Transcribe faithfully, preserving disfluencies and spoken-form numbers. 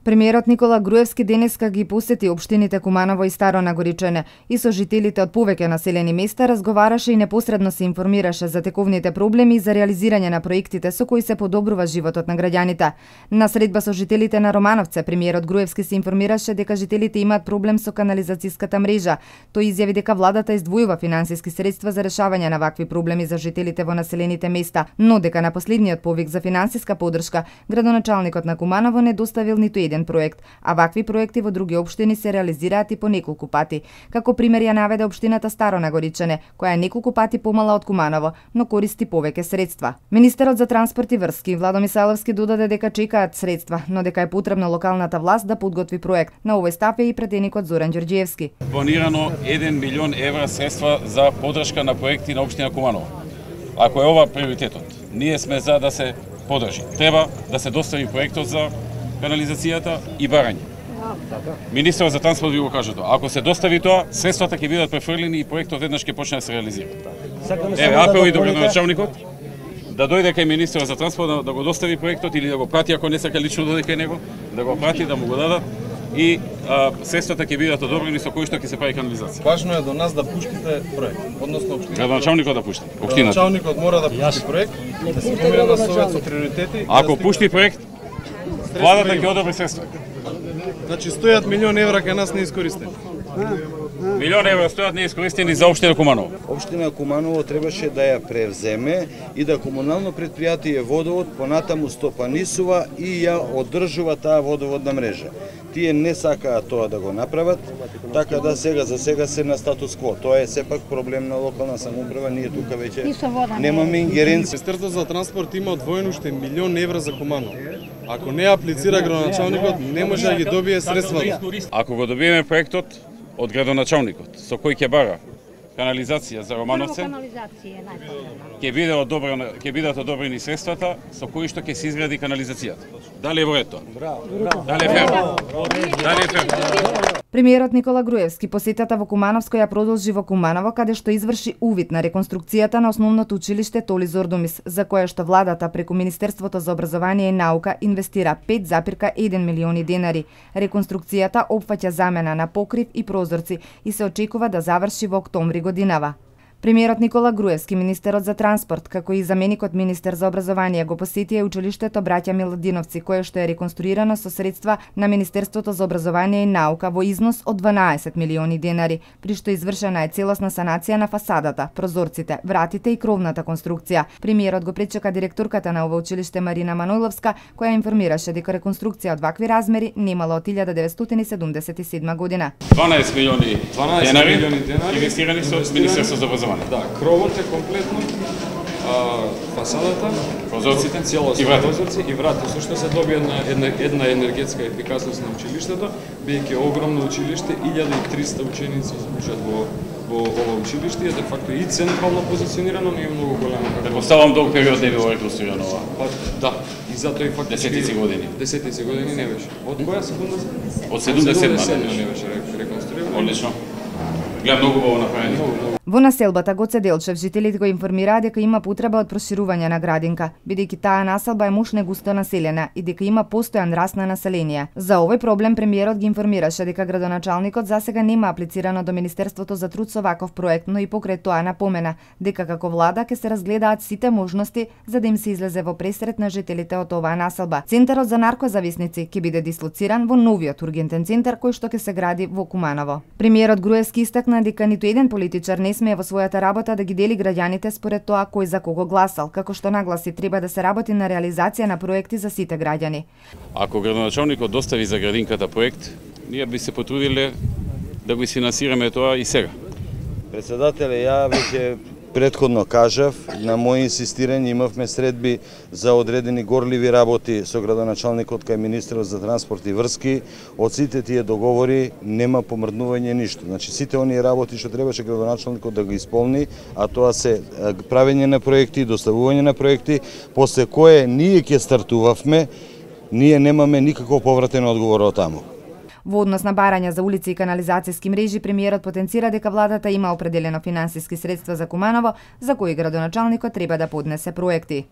Премиерот Никола Груевски денеска ги посети општините Куманово и Старо Нагоричане и со жителите од повеќе населени места разговараше и непосредно се информираше за тековните проблеми и за реализирање на проектите со кои се подобрува животот на граѓаните. На средба со жителите на Романовце, премиерот Груевски се информираше дека жителите имаат проблем со канализацијската мрежа. Тој изјави дека владата издвојува финансиски средства за решавање на вакви проблеми за жителите во населените места, но дека на последниот повик за финансиска поддршка градоначалникот на Куманово не доставил ниту еден проект, а вакви проекти во други општини се реализираат и по неколку пати. Како пример ја наведе општината Старо Нагоричане, која е неколку пати помала од Куманово, но користи повеќе средства. Министерот за транспорт и врски Владо Мисалевски додаде дека чекаат средства, но дека е потребно локалната власт да подготви проект. На овој стап е и претеникот Зоран Ѓорѓиевски. Планирано еден милион евра средства за поддршка на проекти на општина Куманово. Ако е ова приоритетот, ние сме за да се поддржи. Треба да се достави проектот за канализацијата и барање. Министерот за транспорт ви го кажа тоа. Ако се достави тоа, средствата ќе бидат префрлени и проектот еднаш ќе почне да се реализира. Еве, апел и до градоначалникот да дојде кај министерот за транспорт да, да го достави проектот или да го прати, ако не сака лично дојде кај него, да го прати, да му го дадат и а, средствата ќе бидат одобрени со кои што ќе се прави канализација. Важно е до нас да пуштите проект, односно општината. Градоначалникот да пушти. Градоначалникот мора да пушти проект, да се помине на совет со приоритети. Ако пушти проект, владата ќе одобри средства. Значи стојат милион евра кај нас неискористени. Милион евра стојат неискористени за општина Куманово. Општина Куманово требаше да ја превземе и да комунално претпријатие Водовод понатаму стопанисува и ја одржува таа водоводна мрежа. Тие не сакаат тоа да го направат, така да сега за сега се на статус кво. Тоа е сепак проблем на локална самоуправа, ние тука веќе немаме ингеренција. Министерството за транспорт има одвоено уште милион евра за Куманово. Ако не аплицира градоначалникот, не може да ги добие средствата. Ако го добиеме проектот од градоначалникот, со кој ќе бара канализација за Романовце, ќе биде одобрено, ќе бидат одобрени средствата со кои што ќе се изгради канализацијата. Дали е во ред тоа? Дали е фер? Дали е фер? Премиерот Никола Груевски посетата во Кумановско ја продолжи во Куманово, каде што изврши увид на реконструкцијата на основното училиште Толи Зордумис, за кое што владата преку Министерството за образование и наука инвестира пет запирка еден милиони денари. Реконструкцијата опфаќа замена на покрив и прозорци и се очекува да заврши во октомври годинава. Премиерот Никола Груевски, министерот за транспорт, како и заменикот министер за образование го посетија училиштето Браќа Миладиновци, кое што е реконструирано со средства на Министерството за образование и наука во износ од дванаесет милиони денари, при што извршена е целосна санација на фасадата, прозорците, вратите и кровната конструкција. Премиерот го пречека директорката на ова училиште Марина Манойловска, која информираше дека реконструкција од вакви размери немала од илјада деветстотини седумдесет и седма година. дванаесет милиони денари инвестирани со Министерството за образование. Да, кровот е комплетно, а, фасадата, прозорците, целосно и врати. прозорци и врати, со што се добија една, една, една енергетска ефикасност на училиштето, бидејќи огромно училиште, илјада и триста ученици учат во во ова училиште, е де факто и централно позиционирано, но и многу големо. Предпоставам долг период не било реконструирано ова. Па, да, и затоа и фактички десетици години. Десетици години не беше. Од која секунда? Од седумдесет не беше реконструирано. Одлично. Гледам многу убаво направени. Во населбата Гоце Делчев жителите го информираа дека има потреба од проширување на градинка, бидејќи таа населба е мушне густо населена и дека има постојан раст на население. За овој проблем премиерот ги информираше дека градоначалникот засега нема аплицирано до Министерството за труд со ваков проект, но и покрај тоа напомена дека како влада ќе се разгледаат сите можности за да им се излезе во пресрет на жителите од оваа населба. Центарот за наркозависници ќе биде дислоциран во новиот ургентен центар кој што ќе се гради во Куманово. Премиерот Груевски истакна дека ниту еден политичар не смее во својата работа да ги дели граѓаните според тоа кој за кого гласал, како што нагласи треба да се работи на реализација на проекти за сите граѓани. Ако градоначалникот достави за градинката проект, ние би се потрудиле да го изфинансираме тоа и сега. Председателе, ја веќе претходно кажав, на моје инсистирање имавме средби за одредени горливи работи со градоначалникот кај министерот за транспорт и врски. Од сите тие договори нема помрднување ништо. Значи сите оние работи што требаше градоначалникот да го исполни, а тоа се правење на проекти, доставување на проекти, после кое ние ќе стартувавме, ние немаме никаков повратен одговор од таму. Во однос на барање за улици и канализацијски мрежи, премиерот потенцира дека владата има определено финансиски средства за Куманово, за кои градоначалникот треба да поднесе проекти.